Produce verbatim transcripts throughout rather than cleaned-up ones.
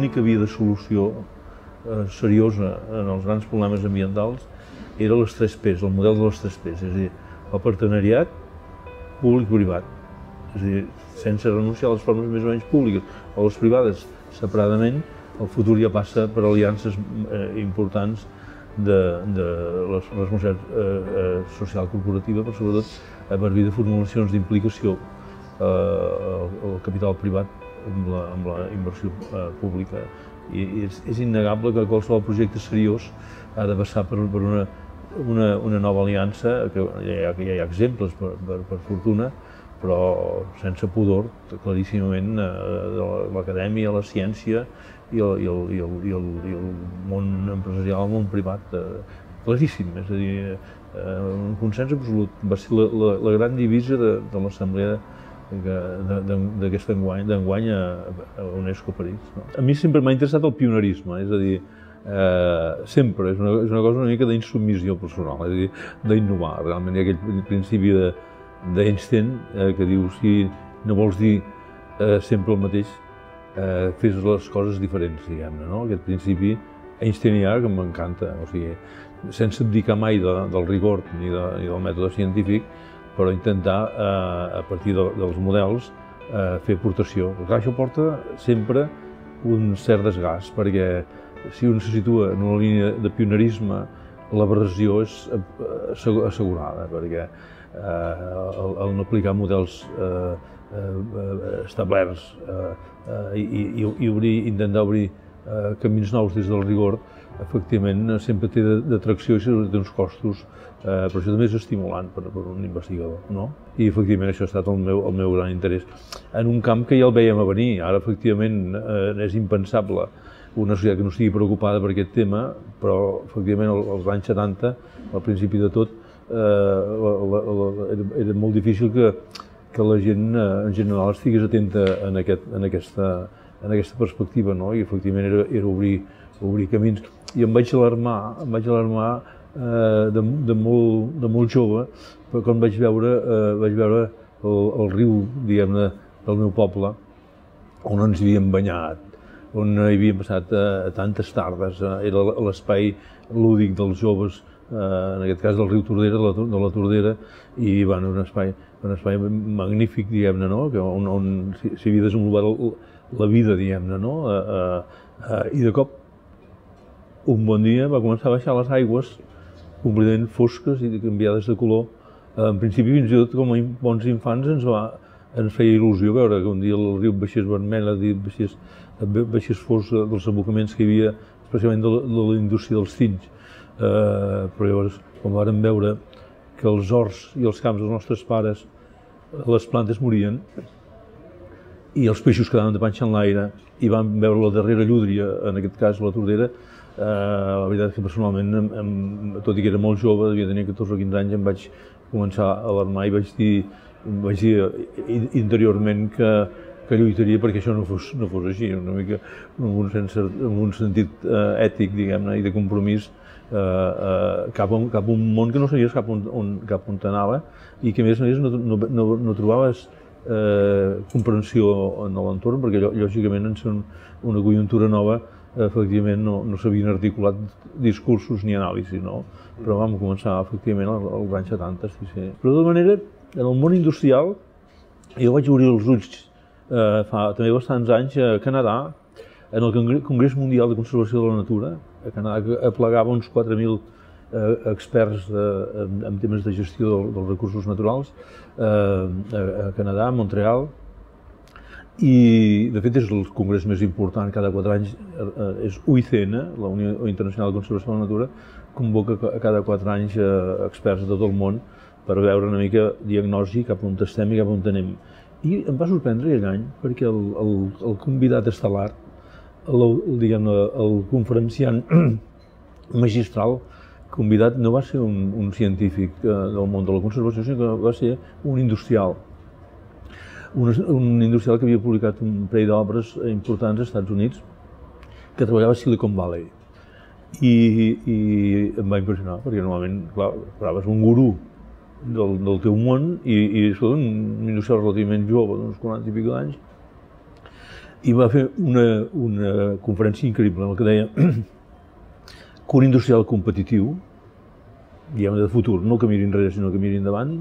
l'única via de solució eh, seriosa en els grans problemes ambientals era les tres P's, el model de les tres P's, és a dir, el partenariat públic-privat, és a dir, sense renunciar a les formes més o menys públiques o les privades separadament, el futur ja passa per aliances eh, importants de, de la responsabilitat eh, eh, social corporativa, però sobretot a partir de formulacions d'implicació eh, el, el capital privat amb la, amb la inversió eh, pública. I, i és, és innegable que qualsevol projecte seriós ha de passar per, per una, una, una nova aliança, que ja, ja hi ha exemples per, per, per fortuna, però sense pudor, claríssimament, de l'acadèmia, la ciència i el, i, el, i, el, i, el, i el món empresarial, el món privat, claríssim, és a dir, un consens absolut. Va ser la, la, la gran divisa de, de l'assemblea d'aquest enguany, d'enguany a, a UNESCO París. No? A mi sempre m'ha interessat el pionerisme, és a dir, eh, sempre, és una, és una cosa una mica d'insubmissió personal, és a dir, d'innovar. Realment hi ha aquell principi de d'Einstein, eh, que diu, si no vols dir eh, sempre el mateix, eh, fes les coses diferents, diguem-ne, no? Aquest principi einsteinià que m'encanta, o sigui, sense abdicar mai de, del rigor ni, de, ni del mètode científic, però intentar, eh, a partir de, dels models, eh, fer aportació. Clar, això porta sempre un cert desgast, perquè si un se situa en una línia de pionerisme, l'aberració és assegurada, perquè eh, el, el no aplicar models eh, eh, establerts eh, eh, i, i, i obrir, intentar obrir eh, camins nous des del rigor, efectivament sempre té d'atracció i té uns costos, eh, però això també és estimulant per, per un investigador, no? I efectivament això ha estat el meu, el meu gran interès. En un camp que ja el veiem a venir, ara efectivament eh, és impensable una societat que no estigui preocupada per aquest tema, però efectivament als anys setanta, al principi de tot, eh, la, la, la, era, era molt difícil que, que la gent eh, en general estigués atenta en, aquest, en, aquesta, en aquesta perspectiva, no? I efectivament era, era obrir, obrir camins. I em vaig alarmar, em vaig alarmar eh, de, de, molt, de molt jove, però quan vaig veure, eh, vaig veure el, el riu, diguem-ne, del meu poble, on ens havíem banyat, on hi havien passat eh, tantes tardes, eh, era l'espai lúdic dels joves, eh, en aquest cas del riu Tordera, de la, de la Tordera, i bueno, un espai, un espai magnífic, diguem-ne, no? on, on s'hi havia desenvolupat el, la vida, diguem-ne, no? Eh, eh, I de cop, un bon dia, va començar a baixar les aigües completament fosques i canviades de color. Eh, en principi, fins i tot com a bons infants, ens va ens feia il·lusió veure que un dia el riu baixés vermell, baixés, baixés fos dels abocaments que hi havia, especialment de la, de la indústria dels tinys. Eh, però llavors, quan vàrem veure que els horts i els camps dels nostres pares, les plantes morien i els peixos quedaven de panxa en l'aire i vam veure la darrera llúdria, en aquest cas la Tordera, eh, la veritat és que personalment, em, em, tot i que era molt jove, devia tenir catorze o quinze anys, em vaig començar a alarmar i vaig dir vaig dir interiorment que, que lluitaria perquè això no fos, no fos així, una mica amb un, sense, amb un sentit eh, ètic, diguem-ne, i de compromís eh, eh, cap, a, cap a un món que no sabies cap on, on, cap on t'anava i que a més a més no, no, no, no trobaves eh, comprensió en l'entorn perquè lògicament en ser un, una conjuntura nova efectivament no, no s'havien articulat discursos ni anàlisis, no? Però vam començar efectivament als anys setanta, sí, sí. Però de tota manera, en el món industrial, jo vaig obrir els ulls eh, fa també bastants anys a Canadà, en el Congrés Mundial de Conservació de la Natura, a Canadà, que aplegava uns quatre mil eh, experts de, en, en temes de gestió del, dels recursos naturals, eh, a, a Canadà, a Montreal, i de fet és el congrés més important cada quatre anys, eh, és U I C N, la Unió Internacional de Conservació de la Natura, convoca cada quatre anys eh, experts de tot el món per veure una mica diagnosi cap on estem i cap on anem. I em va sorprendre aquell any perquè el, el, el convidat estel·lar, el, el, diguem-ne, el conferenciant magistral convidat no va ser un, un científic eh, del món de la conservació, sinó que va ser un industrial. Un, un industrial que havia publicat un parell d'obres importants als Estats Units que treballava a Silicon Valley. I, i em va impressionar, perquè normalment, clar, esperaves un gurú del, del teu món i, i un industrial relativament jove, d'uns quaranta i pico d'anys, i va fer una, una conferència increïble en la que deia que un industrial competitiu, diguem de futur, no que miri enrere sinó que miri endavant,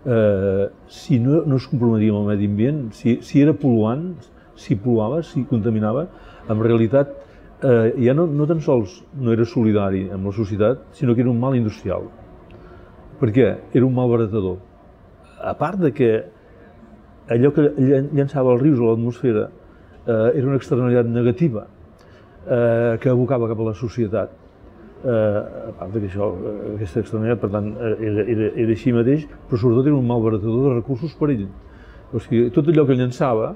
eh, si no, no es comprometia amb el medi ambient, si, si era pol·luant, si pol·luava, si contaminava, en realitat eh, ja no, no tan sols no era solidari amb la societat, sinó que era un mal industrial. Per què? Era un mal baratador. A part de que allò que llançava els rius a l'atmosfera eh, era una externalitat negativa eh, que abocava cap a la societat. Eh, a part de que això, aquesta externalitat, per tant, era, era, era així mateix, però sobretot era un mal baratador de recursos per ell. O sigui, tot allò que llançava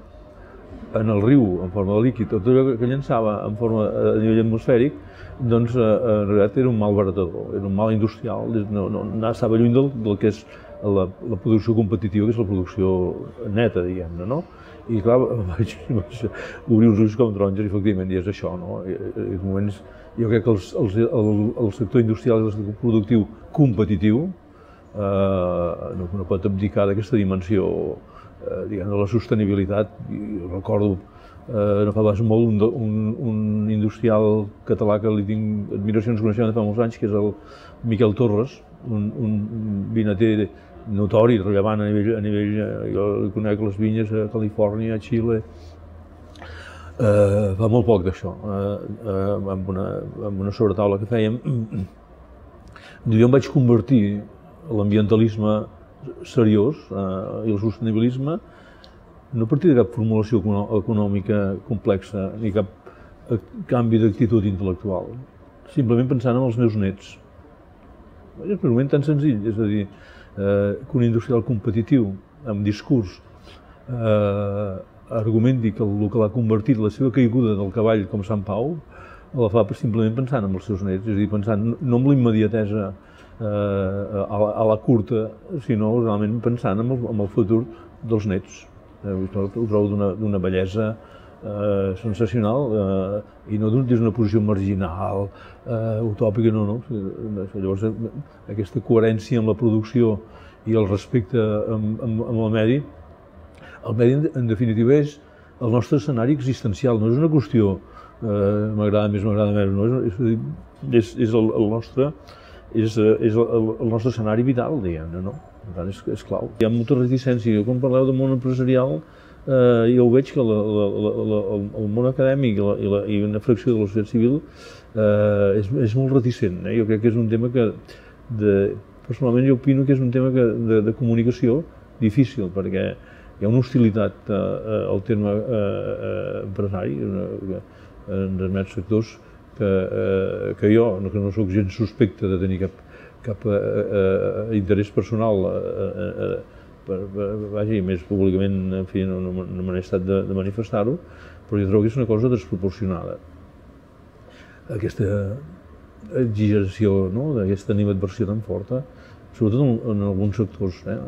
en el riu en forma de líquid, tot allò que llançava en forma a nivell atmosfèric, doncs en realitat era un mal baratador, era un mal industrial, no, no, estava lluny del, del que és la, la producció competitiva, que és la producció neta, diguem-ne, no? I clar, vaig, vaig obrir uns ulls com taronges, efectivament, i és això, no? I, en moments, jo crec que els, els, el, el sector industrial i el sector productiu competitiu eh, no, no pot abdicar d'aquesta dimensió eh, diguem, de la sostenibilitat. I recordo eh, no fa pas molt un, un, un industrial català que li tinc admiracions i coneixement de fa molts anys, que és el Miquel Torres, un, un vinater notori, rellevant a nivell, a nivell, jo conec les vinyes a Califòrnia, a Xile, eh, fa molt poc d'això, eh, eh, amb, una, amb una sobretaula que fèiem. Jo em vaig convertir l'ambientalisme seriós eh, i el sostenibilisme no a partir de cap formulació econòmica complexa ni cap canvi d'actitud intel·lectual, simplement pensant en els meus nets. És un argument tan senzill, és a dir, eh, que un industrial competitiu, amb discurs, eh, argumenti que el que l'ha convertit la seva caiguda del cavall com Sant Pau, la fa simplement pensant en els seus nets, és a dir, pensant no en la immediatesa eh, a, la, a la curta, sinó realment pensant en el, en el futur dels nets. Eh, ho trobo d'una bellesa eh, sensacional eh, i no des d'una posició marginal, eh, utòpica, no, no. Llavors, aquesta coherència amb la producció i el respecte amb, amb, amb el medi, el medi, en definitiva, és el nostre escenari existencial, no és una qüestió eh, m'agrada més, m'agrada menys, no? és, és, és el, el nostre és, és el, el nostre escenari vital, diguem-ne, no? Per tant, és, és clau. Hi ha molta reticència. Quan parleu del món empresarial, eh, jo ho veig que la, la, la, la, el món acadèmic i, la, i, la, i una fracció de la societat civil eh, és, és molt reticent. Eh? Jo crec que és un tema que, de, personalment jo opino que és un tema que, de, de comunicació difícil, perquè hi ha una hostilitat eh, al terme eh, empresari una, en determinats sectors que, eh, que jo, que no soc gens suspecte de tenir cap, cap eh, eh, interès personal eh, eh, per, per, vaja, i més públicament, en fi, no, no, no me n'he estat de, de manifestar-ho, però jo trobo que és una cosa desproporcionada. Aquesta exageració, no?, d'aquesta animadversió tan forta, sobretot en, en alguns sectors. Eh?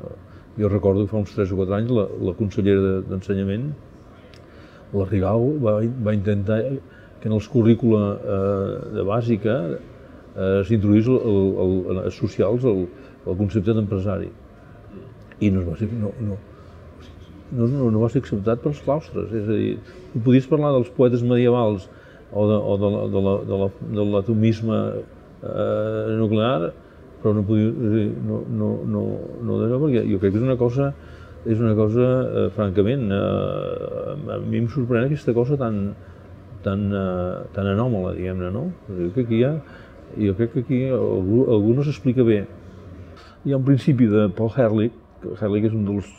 Jo recordo que fa uns tres o quatre anys la, la consellera d'Ensenyament, la Rigau, va, va intentar que en els currícula eh, de bàsica eh, s'introduís als socials el, el concepte d'empresari. I no, va ser, no, no, no, no, no va ser acceptat pels claustres. És a dir, tu podies parlar dels poetes medievals o de, o de, la, de, la, de, la, de l'atomisme eh, nuclear, però no podia, no, no, no, no d'allò, perquè jo crec que és una cosa, és una cosa, eh, francament, eh, a mi em sorprèn aquesta cosa tan, tan, eh, tan anòmala, diguem-ne, no? Jo crec que aquí hi ha, jo crec que aquí algú, algú no s'explica bé. Hi ha un principi de Paul Ehrlich, Ehrlich és un dels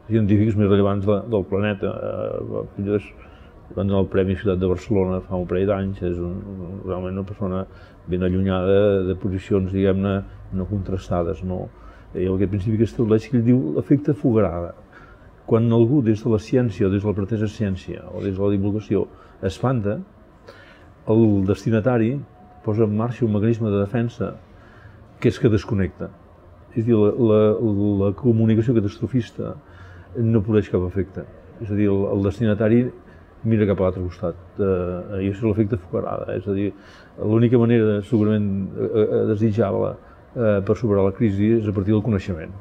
científics més rellevants de, del planeta, eh, va donar el Premi Ciutat de Barcelona fa un parell d'anys, és un, realment una persona ben allunyada de posicions, diguem-ne, no contrastades, no? Hi ha aquest principi que estableix que ell diu l'efecte Fogarada. Quan algú des de la ciència o des de la pretesa ciència o des de la divulgació espanta, el destinatari posa en marxa un mecanisme de defensa que és que desconnecta. És a dir, la, la, la comunicació catastrofista no produeix cap efecte. És a dir, el, el destinatari mira cap a l'altre costat, eh, i això és l'efecte Fogarada. És a dir, l'única manera segurament eh, desitjable eh, per superar la crisi és a partir del coneixement.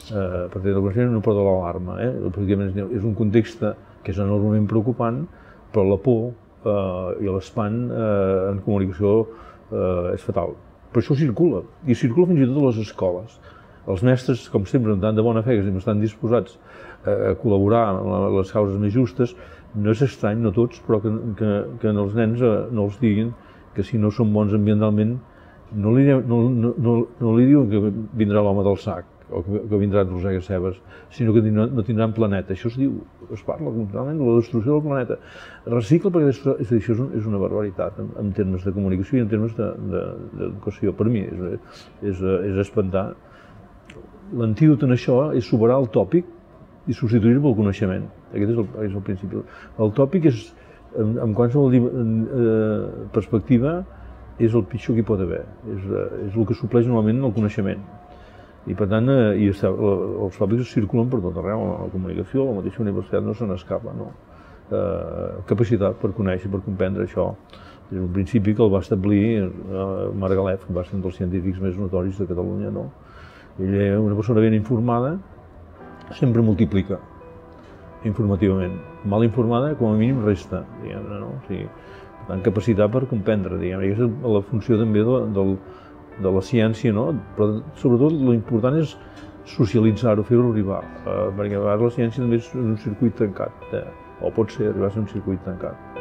Eh, a partir del coneixement no pot l'alarma. Eh? Pràcticament és un context que és enormement preocupant, però la por eh, i l'espant eh, en comunicació eh, és fatal. Però això circula, i circula fins i tot a les escoles. Els mestres, com sempre, amb tant de bona fe, que sempre estan disposats a col·laborar en les causes més justes, no és estrany, no tots, però que, que, que els nens no els diguin que si no són bons ambientalment, no li, no, no, no, no li diuen que vindrà l'home del sac o que, que vindrà a rosegar cebes, sinó que no tindran planeta. Això es diu, es parla continuament de la destrucció del planeta. Recicla perquè és, és, això és, un, és una barbaritat en, en termes de comunicació i en termes d'educació. Per mi és, és, és espantar. L'antídot en això és superar el tòpic i substituir-lo pel coneixement. Aquest és el, és el principi. El tòpic és, en, en qualsevol eh, perspectiva, és el pitjor que hi pot haver. És, és el que supleix normalment el coneixement. I per tant, eh, i està, els tòpics circulen per tot arreu, la comunicació, la mateixa universitat no se n'escapa, no? Eh, capacitat per conèixer, per comprendre això. És un principi que el va establir eh, Margalef, que va ser un dels científics més notoris de Catalunya, no? Ell, una persona ben informada, sempre multiplica informativament. Mal informada, com a mínim, resta, diguem-ne, no? O sigui, per tant, capacitat per comprendre, diguem-ne. Aquesta és la funció també de, de, de la ciència, no? Però sobretot l'important és socialitzar-ho, fer-ho arribar, eh, perquè a vegades la ciència també és un circuit tancat, eh? O pot ser arribar a ser un circuit tancat.